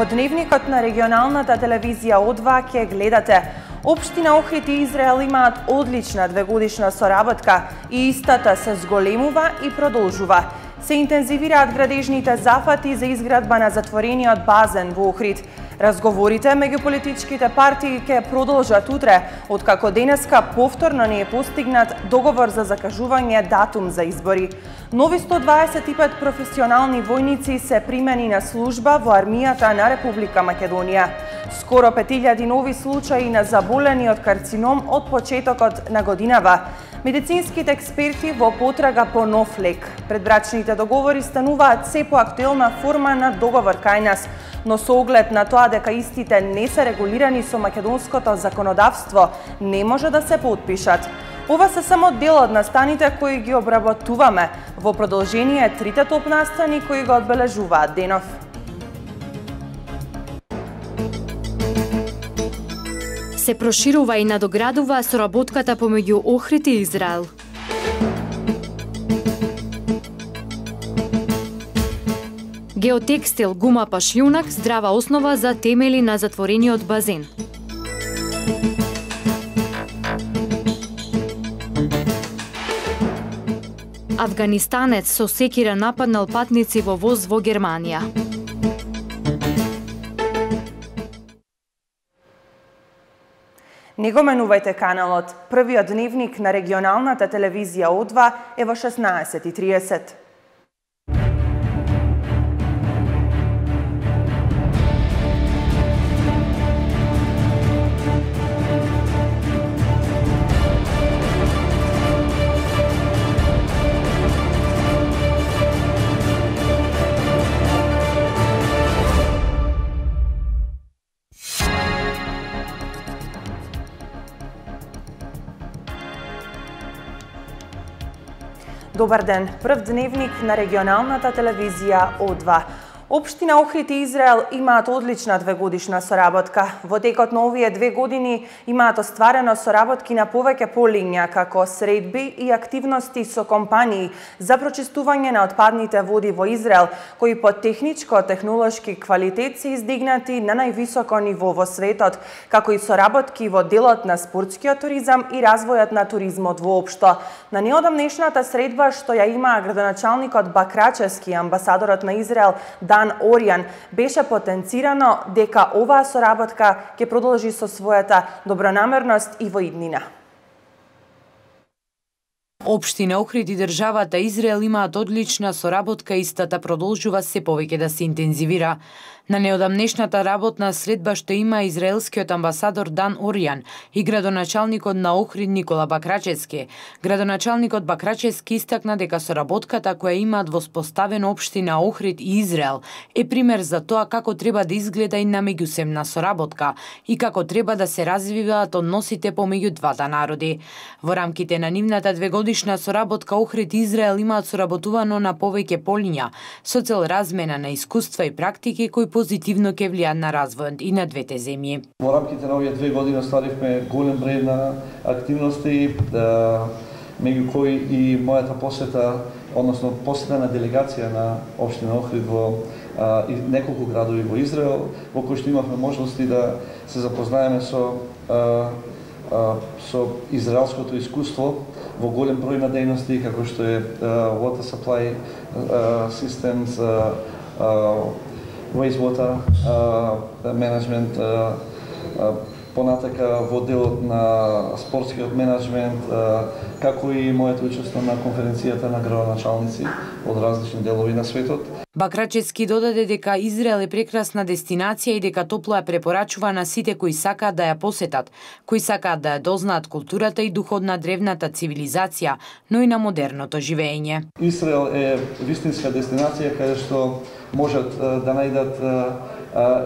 Во дневникот на регионалната телевизија О2 ќе гледате: Општина Охрид и Израел имаат одлична двегодишна соработка и истата се зголемува и продолжува. Се интензивираат градежните зафати за изградба на затворениот базен во Охрид. Разговорите меѓу политичките партии ќе продолжат утре, откако денеска повторно не е постигнат договор за закажување датум за избори. Нови 125 професионални војници се примени на служба во армијата на Република Македонија. Скоро 5000 нови случаи на заболени од карцином од почетокот на годинава. Медицинските експерти во потрага по нов лек. Предбрачните договори стануваат се поактуелна форма на договор кај нас, но со оглед на тоа дека истите не се регулирани со македонското законодавство, не може да се потпишат. Ова се само дел од настаните кои ги обработуваме. Во продолжение трите топ настани кои го одбележуваат денов. Се проширува и надоградува соработката помеѓу Охрид и Израел. Геотекстил гума пашљунак здрава основа за темели на затворениот базен. Афганистанец со секира нападнал патници во воз во Германија. Не го менувајте каналот. Првиот дневник на регионалната телевизија О2 е во 16:30. Добар ден, прв дневник на регионалната телевизија О2. Општина Охрид и Израел имаат одлична двегодишна соработка. Во текот на овие 2 години имаат остварено соработки на повеќе полиња, како средби и активности со компании за прочистување на отпадните води во Израел, кои по техничко-технолошки квалитет се издигнати на највисоко ниво во светот, како и соработки во делот на спортскиот туризам и развојот на туризмот воопшто. На неодамнешната средба што ја има градоначалникот Бакрачевски и амбасадорот на Израел Dan Orian, беше потенцирано дека оваа соработка ќе продолжи со својата добронамерност и во иднина. Општина Охрид и државата Израел имаат одлична соработка и истата продолжува се повеќе да се интензивира. На неодамнешната работна средба што има израелскиот амбасадор Дан Оријан и градоначалникот на Охрид Никола Бакрачевски. Градоначалникот Бакрачевски истакна дека соработката која имаат во споставена општина Охрид и Израел е пример за тоа како треба да изгледа и на меѓусебна соработка и како треба да се развиваат односите помеѓу двата народи. Во рамките на нивната двегодишна соработка Охрид и Израел имаат соработувано на повеќе полиња со цел размена на искуства и практики кои позитивно ќе влијаат на развојот и на двете земји. Во рамките на овие 2 години оставивме голем број на активности, меѓу кои и мојата посета, односно посета на делегација на општина Охрид во неколку градови во Израел, во кои што имавме можности да се запознаеме со израелското искуство во голем број на дејности, како што е water supply systems, wastewater management, понатака во делот на спортскиот менеджмент, како и моето учество на конференцијата на градоначалници од различни делови на светот. Бакрачевски додаде дека Израел е прекрасна дестинација и дека топло ја препорачува на сите кои сакаат да ја посетат, кои сакаат да ја дознаат културата и духот на древната цивилизација, но и на модерното живење. Израел е вистинска дестинација каде што можат да најдат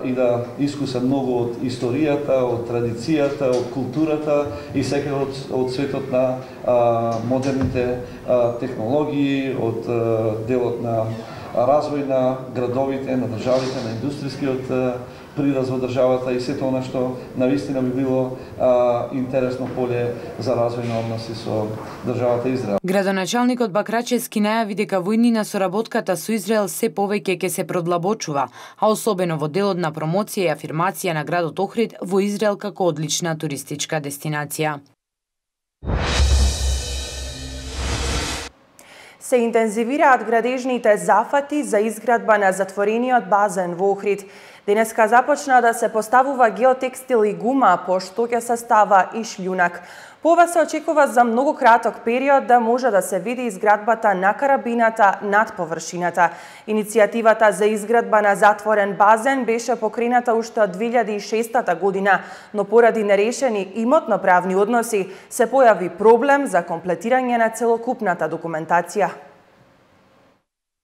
и да искусат многу од историјата, од традицијата, од културата и секако од светот на модерните технологии, од делот на развој на градовите, на државите, на индустријскиот прираст во државата и сето она што навистина би било интересно поле за развој на односи со државата Израел. Градоначалникот Бакрачевски најави дека војнина соработката со Израел се повеќе ќе се продлабочува, а особено во делот на промоција и афирмација на градот Охрид во Израел како одлична туристичка дестинација. Се интензивираат градежните зафати за изградба на затворениот базен во Охрид. Денеска започна да се поставува геотекстил и гума, пошто ќе се става и шљунак. По ова се очекува за многу краток период да може да се види изградбата на карабината над површината. Иницијативата за изградба на затворен базен беше покрената уште од 2006 година, но поради нерешени имотно-правни односи се појави проблем за комплетирање на целокупната документација.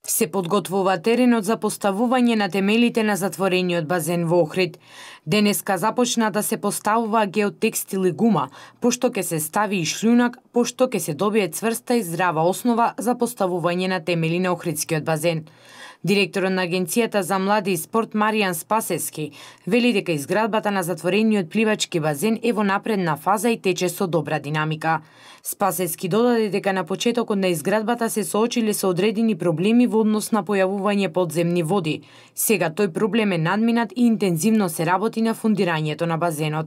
Се подготвува теренот за поставување на темелите на затворениот базен во Охрид. Денеска започна да се поставува геотекстил и гума, пошто ќе се стави и шљунак, пошто ќе се добие цврста и здрава основа за поставување на темели на Охридскиот базен. Директорот на Агенцијата за млади и спорт Маријан Спасевски вели дека изградбата на затворениот пливачки базен е во напредна фаза и тече со добра динамика. Спасевски додаде дека на почетокот на изградбата се соочиле со одредени проблеми во однос на појавување подземни води. Сега тој проблем е надминат и интензивно се работи на фундирањето на базенот.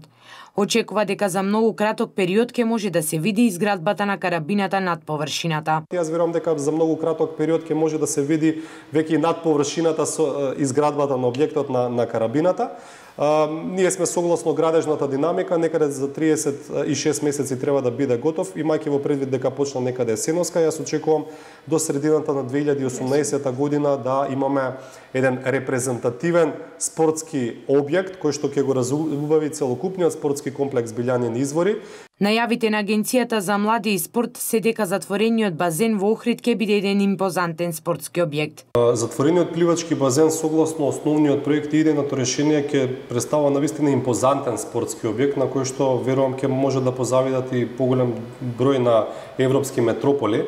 Очекува дека за многу краток период ќе може да се види изградбата на карабината над површината. Јас верувам дека за многу краток период ќе може да се види веќе над површината со изградбата на објектот на карабината. Ние сме согласно градежната динамика, некаде за 36 месеци треба да биде готов, имајќи во предвид дека почна некаде есеноска. Јас очекувам до средината на 2018 година да имаме еден репрезентативен спортски објект кој што ќе го разубави целокупниот спортски комплекс Билјанин извори. Најавите на Агенцијата за млади и спорт се дека затворениот базен во Охрид ќе биде еден импозантен спортски објект. Затворениот пливачки базен согласно основниот проект и идејното решение ќе представува навистина импозантен спортски објект на кој што верувам ќе може да позавидат и поголем број на европски метрополи.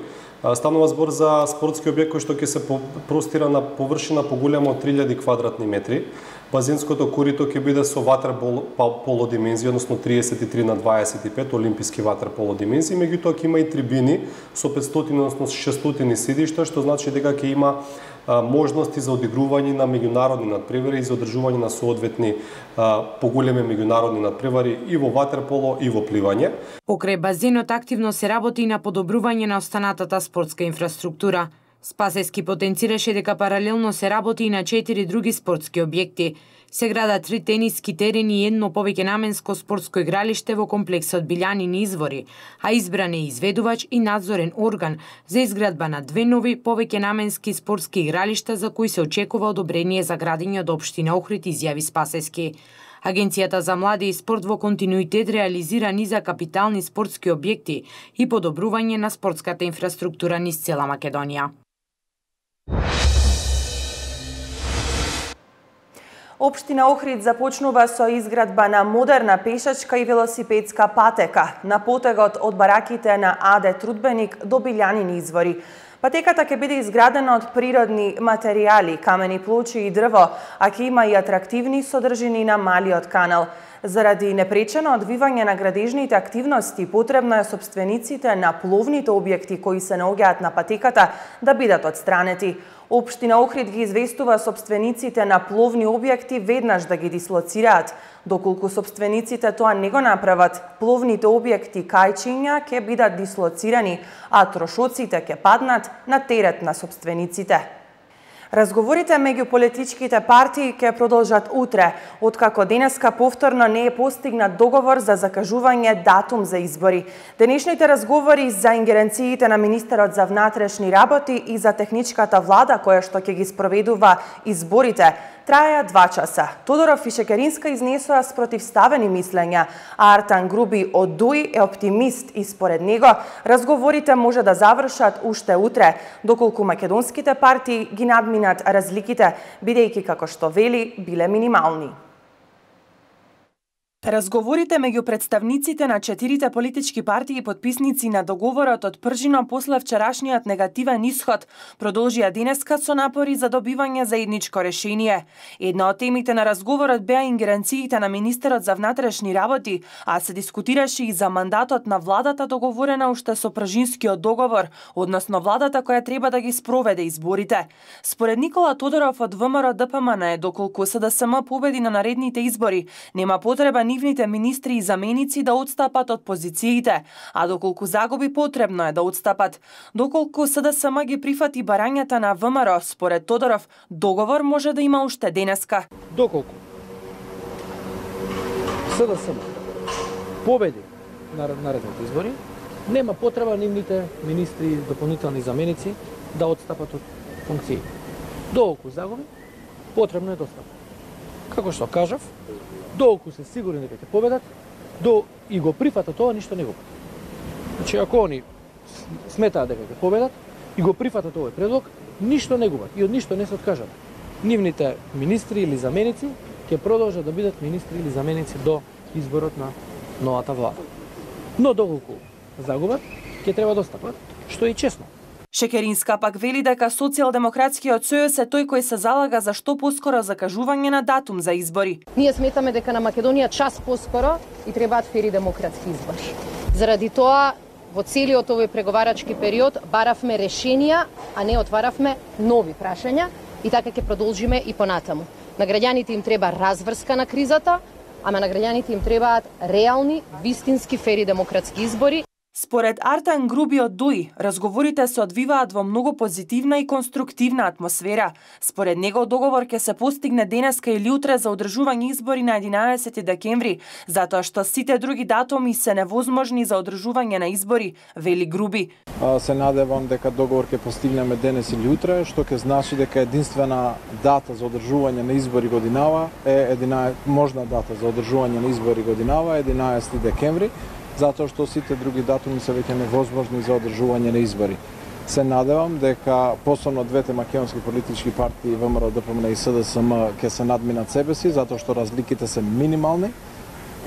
Станува збор за спортски објект кој што ќе се простира на површина поголема од 3000 квадратни метри. Базенското корито ќе биде со ватерполо димензија, односно 33 на 25 олимписки ватерполо димензии, меѓутоа ќе има и трибини со 500, односно 600 седишта, што значи дека ќе има можности за одигрување на меѓународни надпревари и за одржување на соодветни поголеми меѓународни надпревари и во ватерполо и во пливање. Покрај базенот активно се работи на подобрување на останатата спортска инфраструктура. Спасевски потенцираше дека паралелно се работи и на 4 други спортски објекти. Се градат 3 тениски терени и едно повеќе наменско спортско игралиште во комплексот Билјанини извори, а избран е изведувач и надзорен орган за изградба на 2 нови повеќе наменски спортски игралишта за кои се очекува одобрение за градење од општина Охрид, изјави Спасевски. Агенцијата за млади и спорт во континуитет реализира низа капитални спортски објекти и подобрување на спортската инфраструктура низ цела Македонија. Општина Охрид започнува со изградба на модерна пешачка и велосипедска патека на потегот од бараките на АД Трудбеник до Билјанини извори. Патеката ќе биде изградена од природни материјали, камени плочи и дрво, а ќе има и атрактивни содржини на малиот канал. Заради непречено одвивање на градежните активности, потребно е собствениците на пловните објекти кои се наоѓаат на патеката да бидат отстранети. Општина Охрид ги известува собствениците на пловни објекти веднаш да ги дислоцираат. Доколку собствениците тоа не го направат, пловните објекти кајчиња ќе бидат дислоцирани, а трошоците ќе паднат на терет на собствениците. Разговорите меѓу политичките партии ќе продолжат утре, откако денеска повторно не е постигнат договор за закажување датум за избори. Денешните разговори за ингеренциите на министерот за внатрешни работи и за техничката влада која што ќе ги спроведува изборите траја 2 часа. Тодоров и Шекеринска изнесоа спротивставени мислења, а Артан Груби од ДУИ е оптимист и според него разговорите може да завршат уште утре, доколку македонските партии ги надминат разликите, бидејќи како што вели биле минимални. Разговорите меѓу представниците на 4 политички партии и подписници на договорот од пржино после вчерашниот негативен исход продолжија денеска со напори за добивање заедничко решение. Една од темите на разговорот беа ингеренциите на министерот за внатрешни работи, а се дискутираше и за мандатот на владата договорена уште со пржинскиот договор, односно владата која треба да ги спроведе изборите. Според Никола Тодоров од ВМРО ДПМН, доколку СДСМ победи на наредните избори, нема потреба нивните министри и заменици да отстапат од позициите, а доколку загуби потребно е да отстапат. Доколку СДСМ ги прифати барањата на ВМРО, според Тодоров, договор може да има уште денеска. Доколку СДСМ победи на наредните избори, нема потреба нивните министри и дополнителни заменици да отстапат од функции. Доколку загуби, потребно е да отстапат. Како што кажав, доколку се сигурни дека ќе победат, и го прифатат тоа, ништо не губат. Значи, ако они сметаат дека ќе победат и го прифатат овој предлог, ништо не губат и од ништо не се откажат. Нивните министри или заменици ќе продолжат да бидат министри или заменици до изборот на новата влада. Но доколку загубат, ќе треба да отстапат, што е и честно. Шекеринска пак вели дека Социјалдемократскиот сојуз е тој кој се залага за што поскоро закажување на датум за избори. Ние сметаме дека на Македонија час поскоро и требаат фери демократски избори. Заради тоа, во целиот овој преговарачки период баравме решенија, а не отваравме нови прашања и така ќе продолжиме и понатаму. На граѓаните им треба разврска на кризата, ама на граѓаните им требаат реални, вистински фери демократски избори. Според Артан Груби од ДУИ, разговорите се одвиваат во многу позитивна и конструктивна атмосфера. Според него договор ќе се постигне денеска или утре за одржување избори на 11 декември, затоа што сите други датуми се невозможни за одржување на избори, вели Груби. Се надевам дека договор ќе постигнеме денес или утре, што ќе значи дека единствена дата за одржување на избори годинава е можна дата за одржување на избори годинава 11 декември. Затоа што сите други датуми се веќе невозможни за одржување на избори. Се надевам дека посебно двете македонски политички партии ВМРО, ДПМН и СДСМ ќе се надминат себе си, затоа што разликите се минимални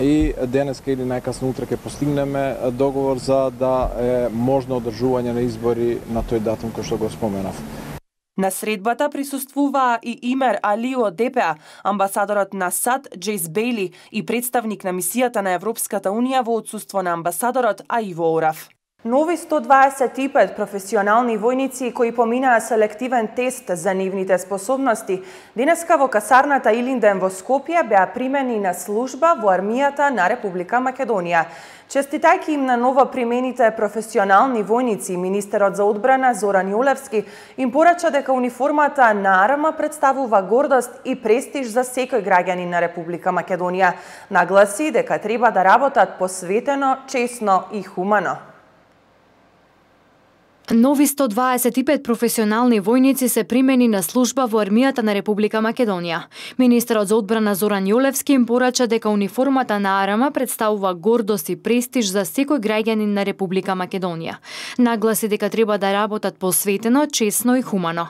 и денеска или најкасно утре ќе постигнеме договор за да е можно одржување на избори на тој датум кој што го споменав. На средбата присуствуваа и Имер Али од ДПА, амбасадорот на САД Джейс Бейли и представник на мисијата на Европската Унија во отсуство на амбасадорот Аиво Орав. Нови 125 професионални војници кои поминаа селективен тест за нивните способности, денеска во касарната Илинден во Скопје беа примени на служба во армијата на Република Македонија. Честитајќи им на ново примените професионални војници, министерот за одбрана Зоран Јолевски им порача дека униформата на АРМА представува гордост и престиж за секој граѓанин на Република Македонија. Нагласи дека треба да работат посветено, честно и хумано. Нови 125 професионални војници се примени на служба во армијата на Република Македонија. Министерот за одбрана Зоран Јолевски им порача дека униформата на АРМА представува гордост и престиж за секој граѓанин на Република Македонија. Нагласи дека треба да работат посветено, честно и хумано.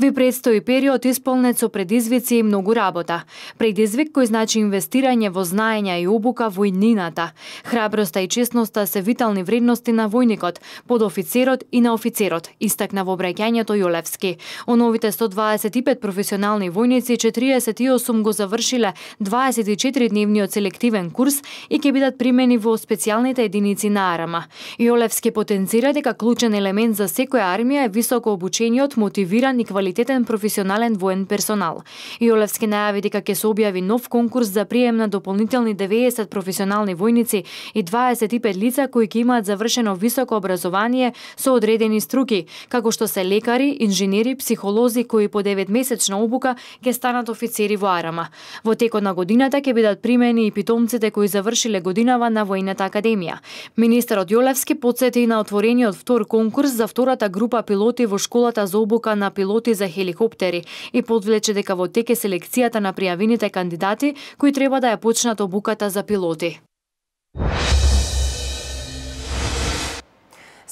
Ви предстои период исполнет со предизвици и многу работа. Предизвик кој значи инвестирање во знаења и обука во иднината. Храброста и честноста се витални вредности на војникот, подофицерот и на офицерот, истакна во обраќањето Јолевски. О новите 125 професионални војници, 48 го завршиле 24-дневниот селективен курс и ќе бидат примени во специјалните единици на АРМА. Јолевски потенцира дека клучен елемент за секоја армија е високо обучениот, мотивиран и квалитетен професионален воен персонал. Јолевски најави дека ќе се објави нов конкурс за прием на дополнителни 90 професионални војници и 25 лица кои ќе имаат завршено високо образование со одредени струки, како што се лекари, инженери, психолози кои по 9-месечна обука ќе станат офицери во АРМА. Во текот на годината ќе бидат примени и питомците кои завршиле годинава на Војната академија. Министерот Јолевски потсети на отворениот втор конкурс за втората група пилоти во школата за обука на пилоти за хеликоптери и подвлече дека во тек е селекцијата на пријавените кандидати кои треба да ја почнат обуката за пилоти.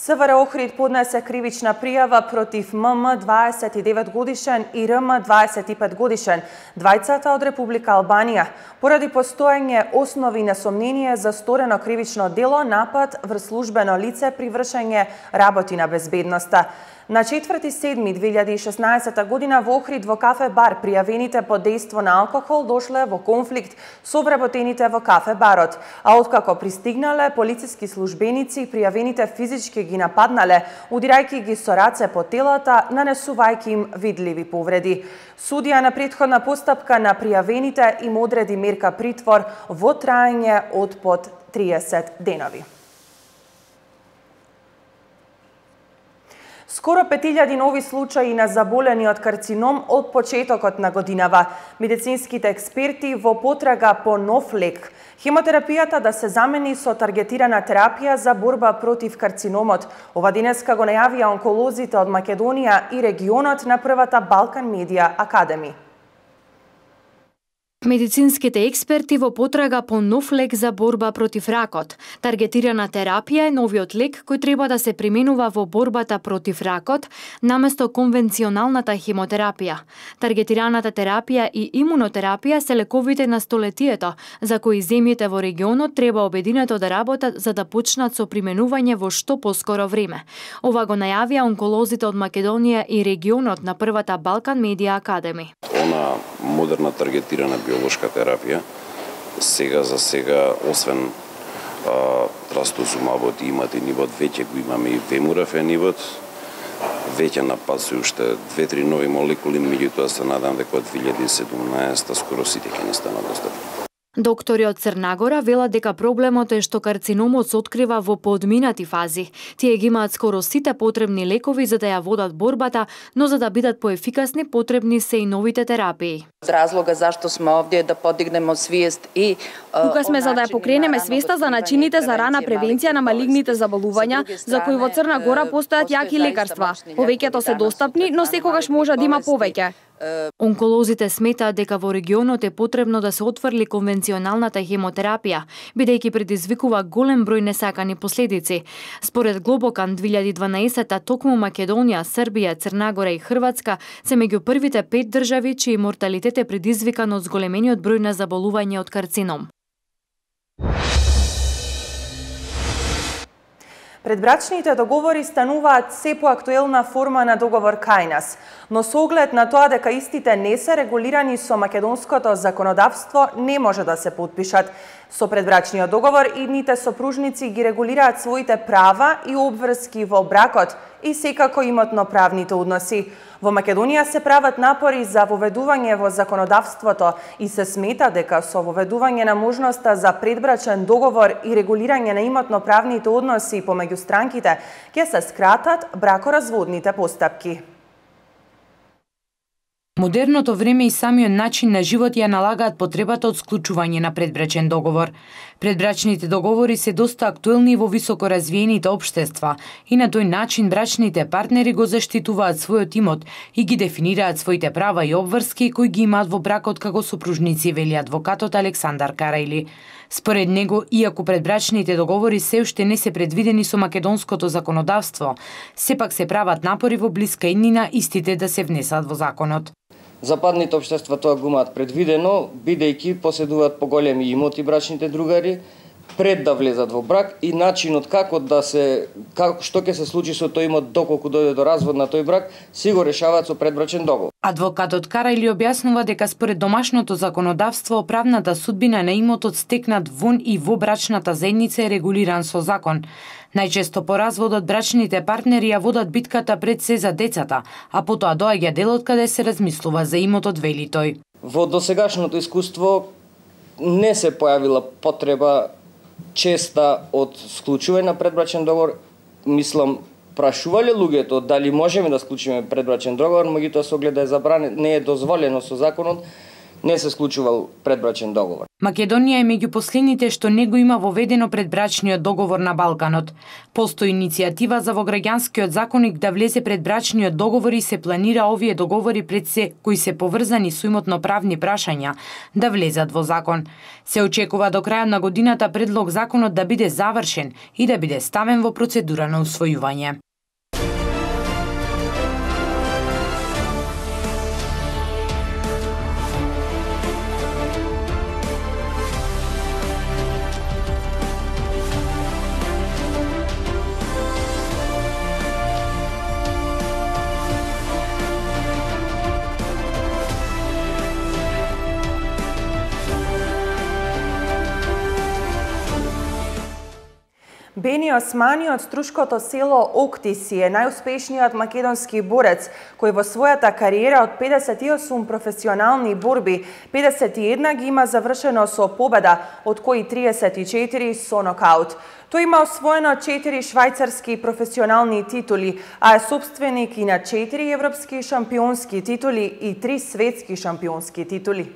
СВР Охрид поднесе кривична пријава против ММ 29 годишен и РМ 25 годишен, двајцата од Република Албанија, поради постоење основи на сомнение за сторено кривично дело напад врз службено лице при вршење работи на безбедноста. На 4.7.2016 година во Охрид во кафе бар пријавените под дејство на алкохол дошле во конфликт со вработените во кафе барот, а откако пристигнале полициски службеници, пријавените физички ги нападнале, удирајќи ги со раце по телата, нанесувајќи им видливи повреди. Судија на претходна постапка на пријавените им одреди мерка притвор во траење од под 30 денови. Скоро 5000 нови случаи на заболени од карцином од почетокот на годинава. Медицинските експерти во потрага по нов лек. Хемотерапијата да се замени со таргетирана терапија за борба против карциномот. Ова денеска го најавија онколозите од Македонија и регионот на првата Балкан Медија Академи. Медицинските експерти во потрага по нов лек за борба против ракот. Таргетирана терапија е новиот лек кој треба да се применува во борбата против ракот наместо конвенционалната хемотерапија. Таргетираната терапија и имунотерапија се лековите на столетието, за кои земјите во регионот треба обединето да работат за да почнат со применување во што поскоро време. Ова го најавија онколозите од Македонија и регионот на првата Балкан Медија Академи. Она модерна таргетирана биолошка терапија, сега, освен трастузумабот и иматинибот, веќе го имаме и вемурафенибот, веќе напасува уште 2-3 нови молекули, меѓутоа се надам дека од 2017 скоро сите ќе ни станат достапни. Доктори од Црнагора велат дека проблемот е што карциномот се открива во поодминати фази. Тие ги имаат скоро сите потребни лекови за да ја водат борбата, но за да бидат поефикасни потребни се и новите терапии. Разлога зашто сме овде е да подигнеме свиест и тука сме за да ја покренеме свеста за начините за рана превенција на малигните заболувања, за кои во Црна Гора постојат јаки лекарства. Повеќето се достапни, но секогаш може да има повеќе. Онколозите сметаат дека во регионот е потребно да се отфрли конвенционалната хемотерапија, бидејќи предизвикува голем број несакани последици. Според Глобокан 2012, токму Македонија, Србија, Црнагора и Хрватска се меѓу првите 5 држави чиј морталитет е предизвикан од зголемениот број на заболување од карцином. Предбрачните договори стануваат се поактуелна форма на договор кај нас, но со оглед на тоа дека истите не се регулирани со македонското законодавство, не може да се подпишат. Со предбрачниот договор идните сопружници ги регулираат своите права и обврски во бракот и секако имотно-правните односи. Во Македонија се прават напори за воведување во законодавството и се смета дека со воведување на можноста за предбрачен договор и регулирање на имотно-правните односи помеѓу странките ќе се скратат бракоразводните постапки. Модерното време и самиот начин на живот ја налагаат потребата од склучување на предбрачен договор. Предбрачните договори се доста актуелни во високо развиените општества и на тој начин брачните партнери го заштитуваат својот имот и ги дефинираат своите права и обврски кои ги имаат во бракот како сопружници, вели адвокатот Александар Карајли. Според него, иако предбрачните договори се уште не се предвидени со македонското законодавство, сепак се прават напори во блиска иднина истите да се внесат во законот. Западните општества тоа го имаат предвидено, бидејќи поседуваат поголеми имоти брачните другари, пред да влезат во брак и начинот што ќе се случи со тој имот доколку дојде до развод на тој брак, си го решаваат со предбрачен договор. Адвокатот Карајли објаснува дека според домашното законодавство правната судбина на имотот стекнат вон и во брачната заедница е регулиран со закон. Најчесто по разводот брачните партнери ја водат битката пред се за децата, а потоа доаѓа делот каде се размислува за имотот, вели тој. Во досегашното искуство не се појавила потреба честа од склучување на предбрачен договор. Мислам, прашувале луѓето дали можеме да склучиме предбрачен договор, меѓутоа со оглед да е забранет, не е дозволено со законот, не се склучувал предбрачен договор. Македонија е меѓу последните што не го има воведено предбрачниот договор на Балканот. Постои иницијатива за во граѓанскиот законник да влезе предбрачниот договор и се планира овие договори пред се кои се поврзани со имотно-правни прашања да влезат во закон. Се очекува до крајот на годината предлог законот да биде завршен и да биде ставен во процедура на усвојување. Бени Османи од струшкото село Октиси е најуспешниот македонски борец, кој во својата кариера од 58 професионални борби, 51 ги има завршено со победа, од кои 34 со нокаут. Тој има освоено 4 швајцарски професионални титули, а е собственик и на 4 европски шампионски титули и 3 светски шампионски титули.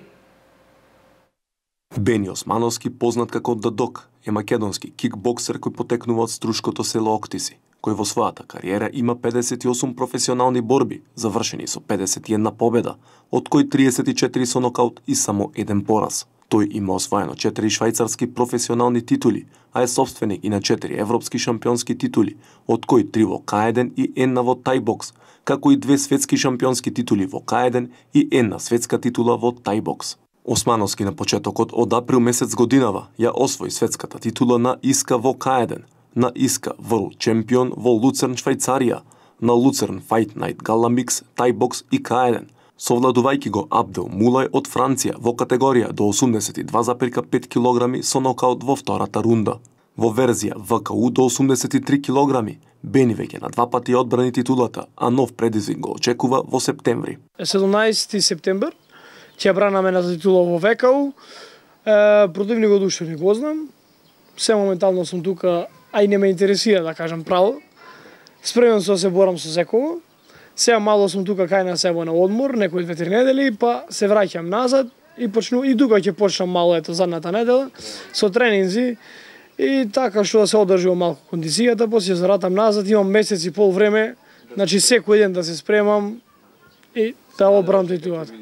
Бени Османовски, познат како The Dog, е македонски кикбоксер кој потекнува од струшкото село Октиси, кој во својата кариера има 58 професионални борби, завршени со 51 победа, од кои 34 со нокаут и само 1 пораз. Тој има освоено 4 швајцарски професионални титули, а е собственик и на 4 европски шампионски титули, од кои 3 во К1 и 1 во тајбокс, како и 2 светски шампионски титули во К1 и 1 светска титула во тајбокс. Османовски на почетокот од април месец годинава ја освои светската титула на ИСКА во К1, на ИСКА World Champion во Луцерн, Швајцарија, на Луцерн Fight Night Gala Mix, тајбокс и К1, совладувајќи го Абдел Мулај од Франција во категорија до 82,5 кг со нокаут во втората рунда. Во верзија ВКУ до 83 кг, Бени веќе на 2 пати одбрани титулата, а нов предизвик го очекува во септември. 17 септември ќе бранаме на титула во ВКУ. Противникот уште не го знам. Се моментално сум тука, а и не ме интересира да кажам право. Спремен сум да се борам со секого. Сега мало сум тука кај на себе на одмор, некои 2-3 недели, па се враќам назад и тука ќе почнам мало задната недела со тренинзи и така што да се одржува малку кондицијата, после се вратам назад, имам месец и пол време, значи секој ден да се спремам и да одбранам титулата.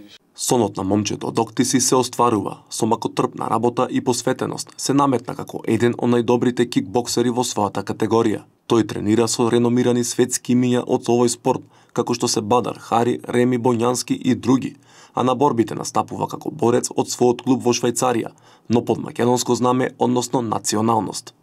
Сонот на момчето од Октиси се остварува, со макотрпна работа и посветеност се наметна како еден од најдобрите кикбоксери во својата категорија. Тој тренира со реномирани светски имиња од овој спорт, како што се Бадар Хари, Реми Боњански и други, а на борбите настапува како борец од својот клуб во Швајцарија, но под македонско знаме, односно националност.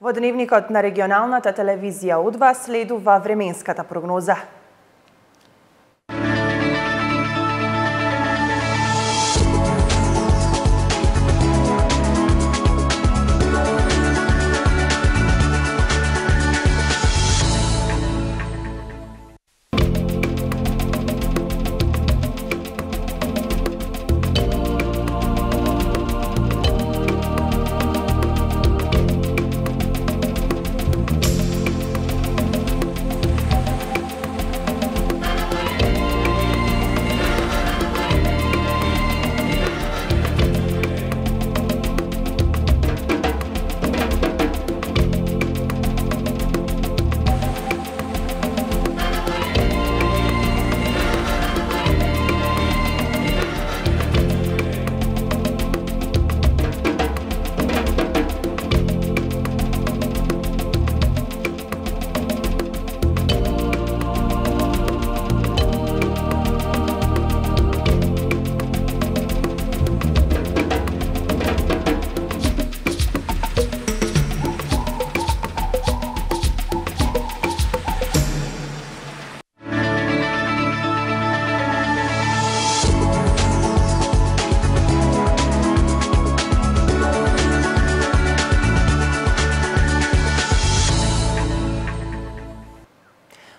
Во дневникот на регионалната телевизија УДВА следува временската прогноза.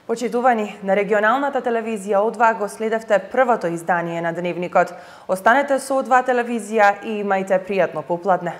Почитувани, на регионалната телевизија О2 го следевте првото издание на Дневникот. Останете со О2 телевизија и имајте пријатно попладне.